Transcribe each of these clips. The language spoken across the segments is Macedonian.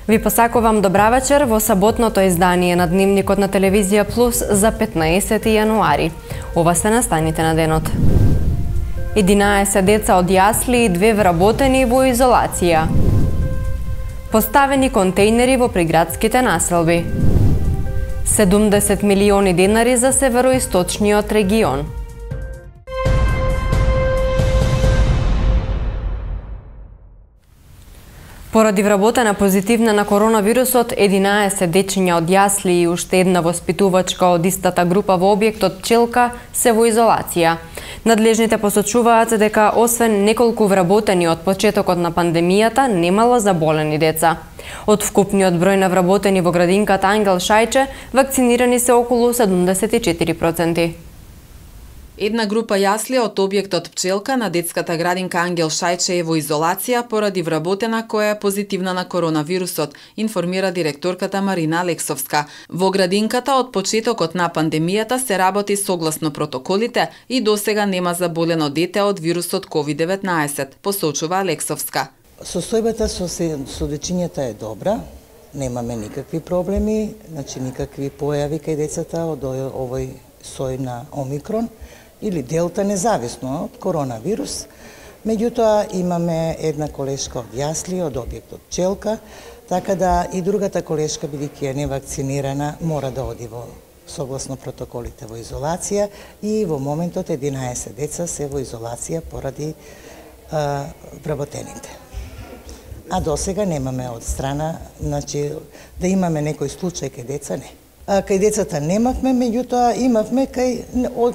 Ви посакувам добра вечер во саботното издание на Дневникот на Телевизија Плюс за 15 јануари. Ова се настаните на денот. 11 деца од јасли и 2 вработени во изолација. Поставени контејнери во приградските населби. 70 милиони денари за североисточниот регион. Поради вработена позитивна на коронавирусот, 11 дечиња од јасли и уште една воспитувачка од истата група во објектот Пчелка се во изолација. Надлежните посочуваат дека освен неколку вработени од почетокот на пандемијата, немало заболени деца. Од вкупниот број на вработени во градинката Ангел Шајче, вакцинирани се околу 74%. Една група јасли од објектот Пчелка на детската градинка Ангел Шајче е во изолација поради вработена која е позитивна на коронавирусот, информира директорката Марина Алексовска. Во градинката од почетокот на пандемијата се работи согласно протоколите и досега нема заболено дете од вирусот COVID-19, посочува Алексовска. Состојбата со дечињата е добра, немаме никакви проблеми, значи никакви појави кај децата од овој сој на Омикрон или Делта, независно од коронавирус. Меѓутоа имаме една колешка од јасли од објектот Пчелка, така да и другата колешка, бидејќи е невакцинирана, мора да оди во согласно протоколите во изолација и во моментот 11 деца се во изолација поради вработените. А досега немаме од страна, значи да имаме некој случај кај деца, не. Кај децата немавме, меѓутоа имавме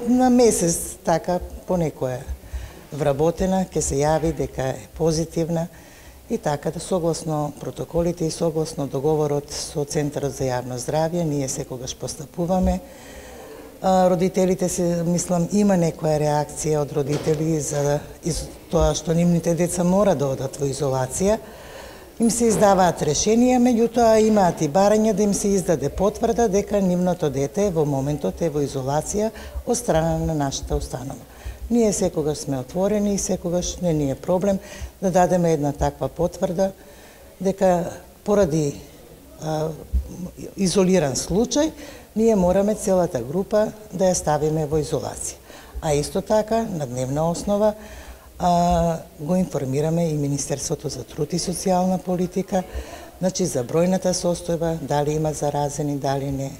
на месец така по некоја вработена, ќе се јави дека е позитивна и така да согласно протоколите и согласно договорот со Центарот за јавно здравје, ние секогаш постапуваме. Родителите се, мислам, има некоја реакција од родители за тоа што нивните деца мора да одат во изолација. Им се издаваат решенија, меѓутоа имаат и барања да им се издаде потврда дека нивното дете во моментот е во изолација од страна на нашата установа. Ние секогаш сме отворени и секогаш не ни е проблем да дадеме една таква потврда дека поради изолиран случај ние мораме целата група да ја ставиме во изолација. А исто така на дневна основа го информираме и Министерството за труд и социјална политика, значи за бројната состојба, дали има заразени, дали не,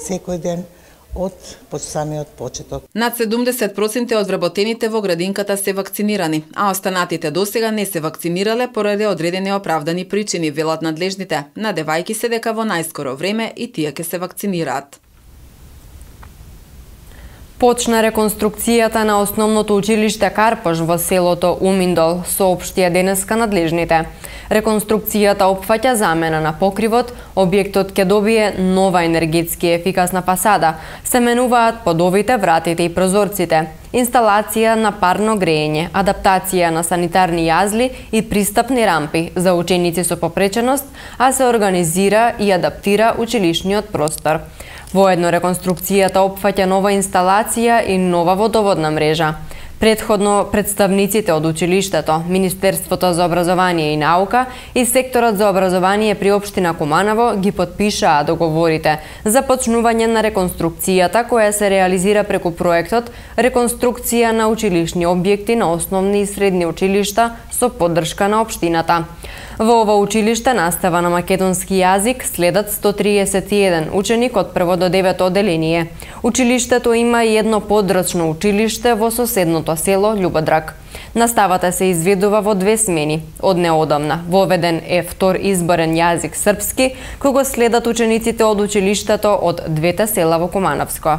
секој ден од самиот почеток. Над 70% од вработените во градинката се вакцинирани, а останатите досега не се вакцинирале поради одредени оправдани причини, велат надлежните, надевајќи се дека во најскоро време и тие ќе се вакцинираат. Почна реконструкцијата на основното училиште Карпош во селото Уминдол, соопштија денеска надлежните. Реконструкцијата опфаќа замена на покривот, објектот ќе добие нова енергетски ефикасна фасада, се менуваат подовите, вратите и прозорците, инсталација на парно грејење, адаптација на санитарни јазли и пристапни рампи за ученици со попреченост, а се организира и адаптира училишниот простор. Воедно реконструкцијата опфаќа нова инсталација и нова водоводна мрежа. Претходно представниците од училиштето, Министерството за образование и наука и секторот за образование при општина Куманово ги потпишаа договорите за почнување на реконструкцијата која се реализира преку проектот Реконструкција на училишни објекти на основни и средни училишта со поддршка на општината. Во ова училиште настава на македонски јазик следат 131 ученик од 1 до 9 одделение. Училиштето има и едно подрачно училиште во соседното село Љубодрак. Наставата се изведува во 2 смени. Од неодамна воведен е втор изборен јазик српски, кој го следат учениците од училиштето од 2 села во Кумановско.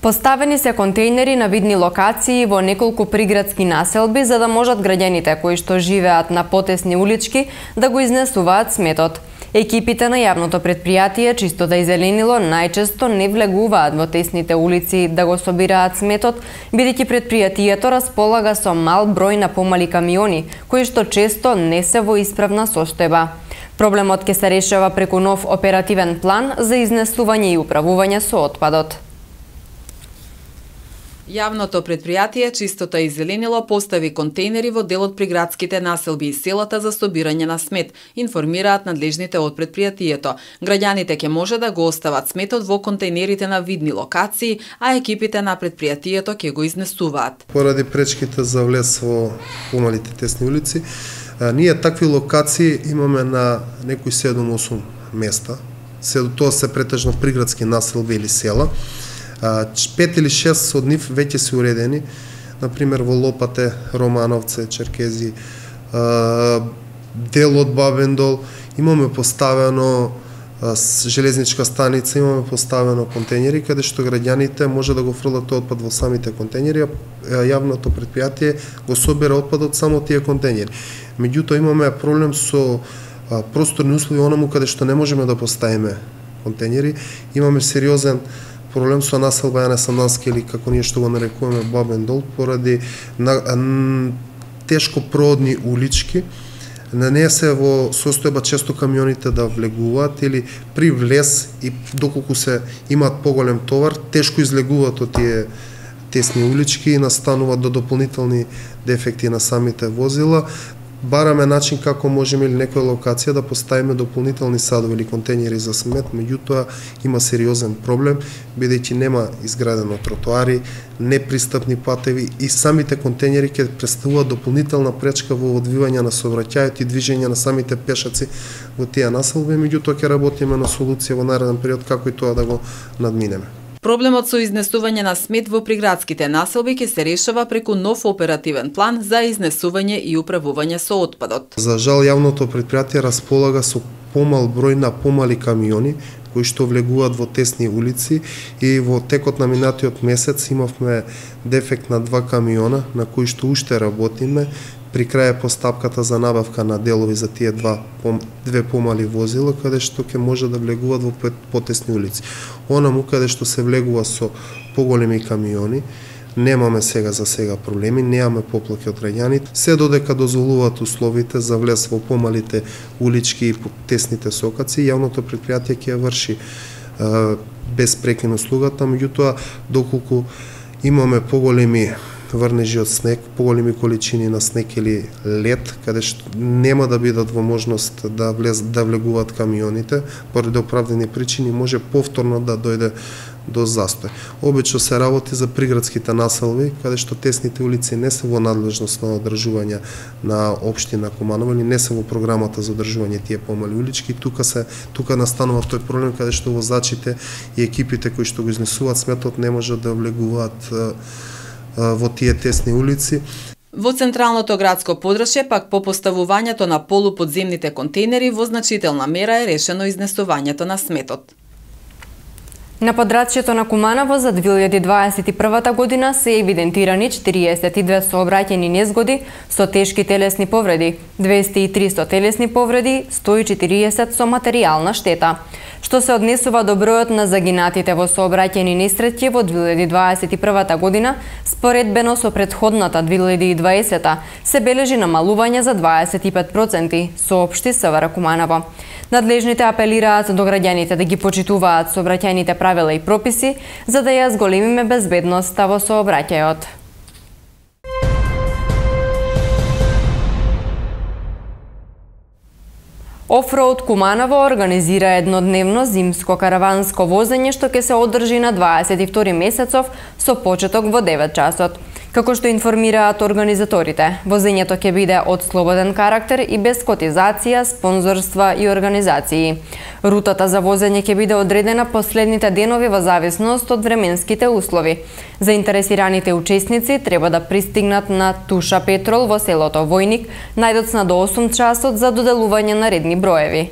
Поставени се контејнери на видни локации во неколку приградски населби за да можат граѓаните кои што живеат на потесни улички да го изнесуваат сметот. Екипите на јавното предпријатие Чистота и зеленило најчесто не влегуваат во тесните улици да го собираат сметот, бидејќи предпријатието располага со мал број на помали камиони, кои што често не се во исправна состојба. Проблемот ќе се решава преку нов оперативен план за изнесување и управување со отпадот. Јавното предпријатие Чистота и зеленило постави контейнери во дел од приградските населби и селата за собирање на смет, информираат надлежните од предпријатието. Граѓаните ќе може да го остават сметот во контейнерите на видни локации, а екипите на предпријатието ќе го изнесуваат. Поради пречките за влез во помалите тесни улици, ние такви локации имаме на некои 7-8 места. Тоа се претежно приградски населби или села. 5 или 6 од нив веќе се уредени, например во Лопате, Романовце, Черкези, дел од Бабендол, имаме поставено железничка станица, имаме поставено контейнери каде што граѓаните може да го фрлат отпад во самите контейнери, а јавното предпријатие го собира отпадот само тие контейнери. Меѓутоа имаме проблем со просторни услови онаму каде што не можеме да поставиме контейнери, имаме сериозен проблем со населба Јане Сандански или како ние што го нарекуваме Бабендол, поради тешко проодни улички. На неја се во состојба често камионите да влегуваат или при влез и доколку се имаат поголем товар, тешко излегуваат од тие тесни улички и настануваат до дополнителни дефекти на самите возила. Бараме начин како можеме или некоја локација да поставиме дополнителни садови или контейнери за смет, меѓутоа има сериозен проблем, бидејќи нема изградено тротоари, непристапни патеви и самите контейнери ќе представуваат дополнителна пречка во одвивање на сообраќајот и движење на самите пешаци во тие населби, меѓутоа ќе работиме на солуција во нареден период како и тоа да го надминеме. Проблемот со изнесување на смет во приградските населби ќе се решава преку нов оперативен план за изнесување и управување со отпадот. За жал, јавното предпријатие располага со помал број на помали камиони кои што влегуваат во тесни улици и во текот на минатиот месец имавме дефект на 2 камиона на кои што уште работиме. При крај постапката за набавка на делови за тие две помали возила, каде што ќе може да влегуваат во потесни улици. Онаму каде што се влегува со поголеми камиони, немаме за сега проблеми, немаме поплаки од граѓаните, се додека дозволуваат условите за влез во помалите улички и тесните сокаци, јавното предпријатие ќе врши без прекин услугата, меѓутоа доколку имаме поголеми врнежи од снег, поголеми количини на снег или лед, каде што нема да бидат во можност да влегуваат камионите, поради оправдани причини може повторно да дојде до застој. Обично се работи за приградските населби, каде што тесните улици не се во надлежност на одржување на општина Куманово или не се во програмата за одржување тие помали улички. Тука настанува тој проблем каде што возачите и екипите кои што го изнесуваат сметот не можат да влегуваат во тие тесни улици. Во централното градско подрачје пак по поставувањето на полуподземните контейнери во значителна мера е решено изнесувањето на сметот. На подрачјето на Куманово за 2021 година се евидентирани 42 сообраќајни незгоди со тешки телесни повреди, 203 со телесни повреди, 140 со материјална штета. Што се однесува до бројот на загинатите во сообраќајни несреќи во 2021 година, споредбено со претходната 2020, се бележи намалување за 25%, соопшти СВР Куманово. Надлежните апелираат до граѓаните да ги почитуваат сообраќајните правила и прописи, за да ја зголемиме безбедноста во сообраќајот. Офроуд Куманово организира еднодневно зимско караванско возење што ќе се одржи на 22 месецов со почеток во 9 часот. Како што информираат организаторите, возењето ќе биде од слободен карактер и без котизација, спонзорства и организации. Рутата за возење ќе биде одредена последните денови во зависност од временските услови. Заинтересираните учесници треба да пристигнат на Туша Петрол во селото Војник најдоцна до 8 часот за доделување на редни броеви.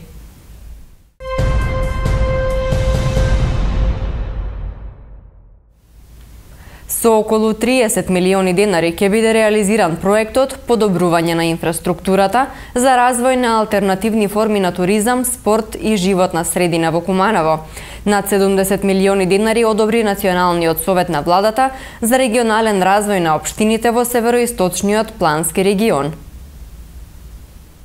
Со околу 30 милиони денари ќе биде реализиран проектот подобрување на инфраструктурата за развој на алтернативни форми на туризам, спорт и животна средина во Куманово. Над 70 милиони денари одобри Националниот совет на владата за регионален развој на општините во североисточниот плански регион.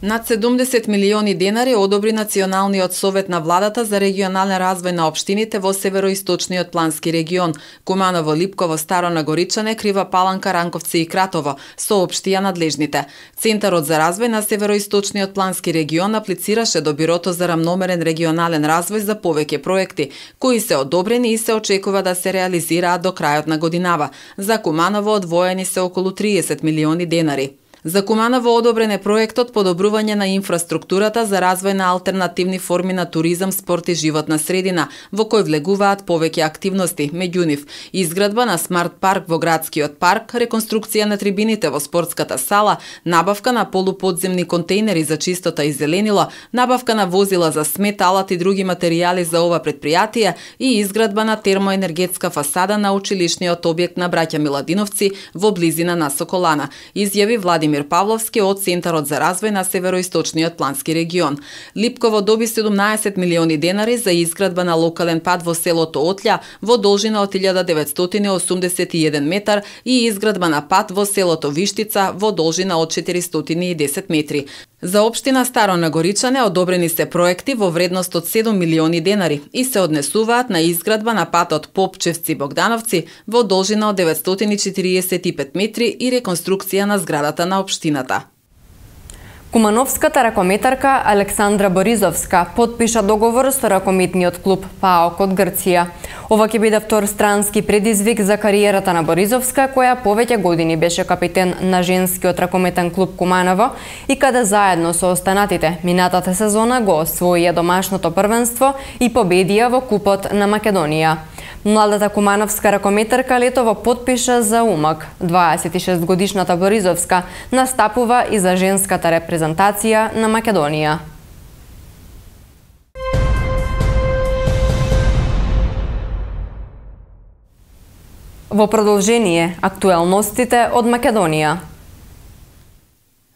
Над 70 милиони денари одобри Националниот совет на владата за регионален развој на општините во североисточниот плански регион. Куманово, Липково, Старо Нагоричане, Крива Паланка, Ранковци и Кратово, соопштија надлежните. Центарот за развој на североисточниот плански регион аплицираше до Бирото за рамномерен регионален развој за повеќе проекти, кои се одобрени и се очекува да се реализираат до крајот на годинава. За Куманово одвоени се околу 30 милиони денари. За Куманово одобрен е проектот подобрување на инфраструктурата за развој на алтернативни форми на туризам, спорт и животна средина, во кој влегуваат повеќе активности, меѓу нив изградба на смарт парк во градскиот парк, реконструкција на трибините во спортската сала, набавка на полуподземни контейнери за чистота и зеленило, набавка на возила за смет, алат и други материјали за ова предпријатие и изградба на термоенергетска фасада на училишниот објект на браќа Миладиновци во близина на Соколана, изјави Владимир Павловски од Центарот за развој на североисточниот плански регион. Липково доби 17 милиони денари за изградба на локален пат во селото Отлја во должина од 1981 метар и изградба на пат во селото Виштица во должина од 410 метри. За општина Старо Нагоричане одобрени се проекти во вредност од 7 милиони денари и се однесуваат на изградба на патот Попчевци-Богдановци во должина од 945 метри и реконструкција на зградата на општината. Кумановската ракометарка Александра Боризовска подпиша договор со ракометниот клуб ПАОК од Грција. Ова ќе биде втор странски предизвик за кариерата на Боризовска, која повеќе години беше капитен на женскиот ракометен клуб Куманово и каде заедно со останатите минатата сезона го освоија домашното првенство и победија во Купот на Македонија. Младата кумановска ракометарка летово подпиша за умак. 26 годишната Боризовска настапува и за женската репрезентација на Македонија. Во продолжение, актуелностите од Македонија.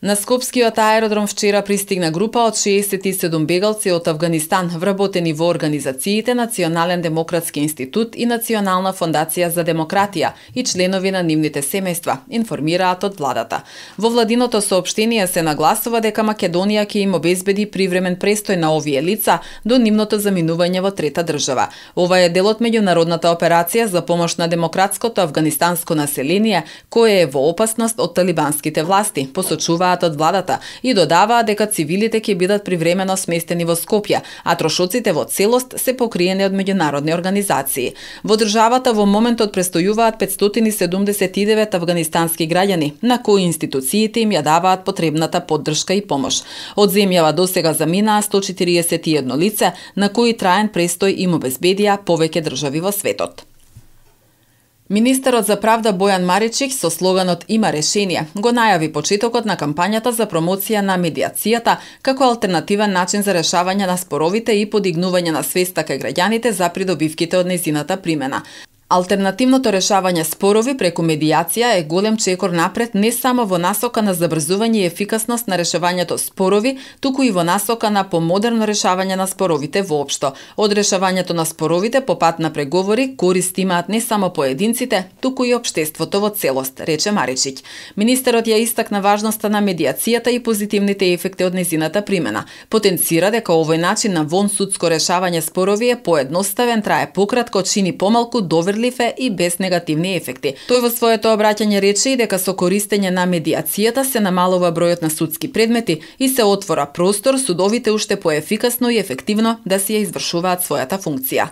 На Скопскиот аеродром вчера пристигна група од 67 бегалци од Авганистан, вработени во организациите Национален демократски институт и Национална фондација за демократија и членови на нивните семејства, информираат од владата. Во владиното соопштение се нагласува дека Македонија ќе им обезбеди привремен престој на овие лица до нивното заминување во трета држава. Ова е дел од меѓународната операција за помош на демократското афганистанско население, кое е во опасност од талибанските власти, посочува од владата и додаваа дека цивилите ќе бидат привремено сместени во Скопје, а трошоците во целост се покриени од меѓународни организации. Во државата во моментот престојуваат 579 афганистански граѓани, на кои институциите им ја даваат потребната поддршка и помош. Од земјава досега заминаа 141 лице, на кои траен престој им обезбедија повеќе држави во светот. Министерот за правда Бојан Маричик со слоганот "Има решение" го најави почетокот на кампањата за промоција на медиацијата како алтернативен начин за решавање на споровите и подигнување на свеста кај граѓаните за придобивките од нејзината примена. Алтернативното решавање спорови преку медиација е голем чекор напред не само во насока на забрзување и ефикасност на решавањето спорови, туку и во насока на помодерно решавање на споровите воопшто. Од решавањето на споровите по пат на преговори корист имаат не само поединците, туку и општеството во целост, рече Маричик. Министерот ја истакна важноста на медиацијата и позитивните ефекти од нејзината примена. Потенцира дека овој начин на вонсудско решавање спорови е поедноставен, трае пократко, чини помалку, доверлив и без негативни ефекти. Тој во своето обраќање рече и дека со користење на медиацијата се намалува бројот на судски предмети и се отвора простор судовите уште поефикасно и ефективно да си ја извршуваат својата функција.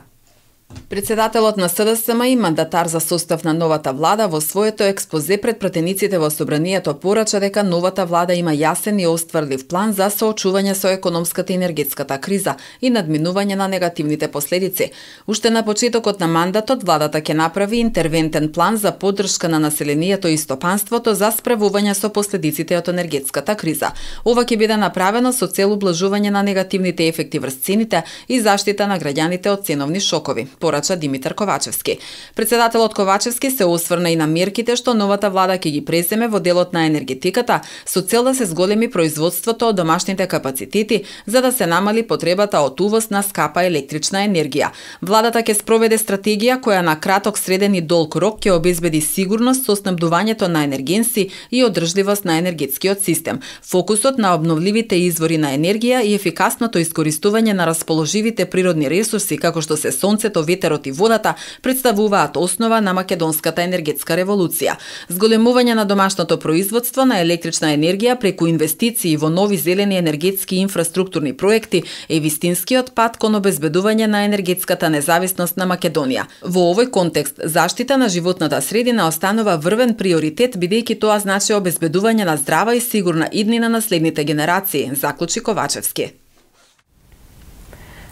Председателот на СДСМ и мандатар за состав на новата влада во своето експозе пред пратениците во собранието порача дека новата влада има јасен и остварлив план за соочување со економската и енергетската криза и надминување на негативните последици. Уште на почетокот на мандатот владата ќе направи интервентен план за поддршка на населението и стопанството за справување со последиците од енергетската криза. Ова ќе биде направено со цел ублажување на негативните ефекти врз цените и заштита на граѓаните од ценовни шокови, порача Димитар Ковачевски. Председателот Ковачевски се осврна и на мерките што новата влада ќе ги преземе во делот на енергетиката со цел да се зголеми производството од домашните капацитети за да се намали потребата од увоз на скапа електрична енергија. Владата ќе спроведе стратегија која на краток, среден и долг рок ќе обезбеди сигурност со снабдувањето на енергенси и одржливост на енергетскиот систем. Фокусот на обновливите извори на енергија и ефикасното искористување на расположивите природни ресурси како што се сонцето, ветерот и водата представуваат основа на македонската енергетска револуција. Зголемување на домашното производство на електрична енергија преку инвестиции во нови зелени енергетски инфраструктурни проекти е вистинскиот пат кон обезбедување на енергетската независност на Македонија. Во овој контекст, заштита на животната средина останува врвен приоритет бидејќи тоа значи обезбедување на здрава и сигурна иднина на следните генерации, заклучи Ковачевски.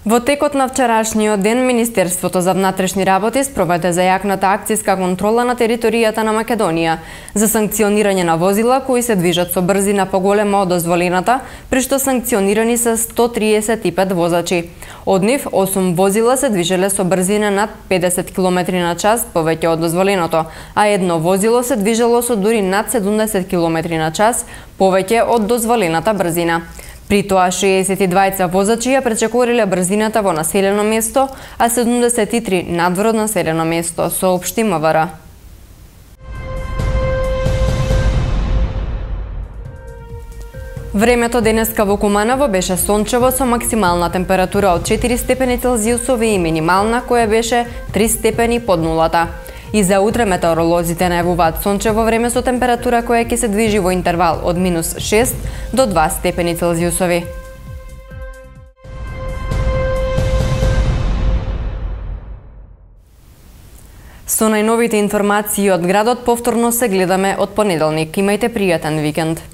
Во текот на вчерашниот ден, Министерството за внатрешни работи спроведе зајакната акциска контрола на територијата на Македонија за санкционирање на возила кои се движат со брзина поголема од дозволената, при што санкционирани се 135 возачи. Од нив 8 возила се движеле со брзина над 50 км/ч повеќе од дозволеното, а едно возило се движело со дури над 70 км/ч повеќе од дозволената брзина. При тоа 62 возачи ја пречекориле брзината во населено место, а 73 надвор од населено место, соопшти МВР. Времето денеска во Куманово беше сончево со максимална температура од 4 степени Целзиусови и минимална која беше 3 степени под нулата. И за утре метеоролозите најавуваат сончево време со температура која ќе се движи во интервал од -6 до 2 степени Целзиусови. Со најновите информации од градот повторно се гледаме од понеделник. Имајте пријатен викенд.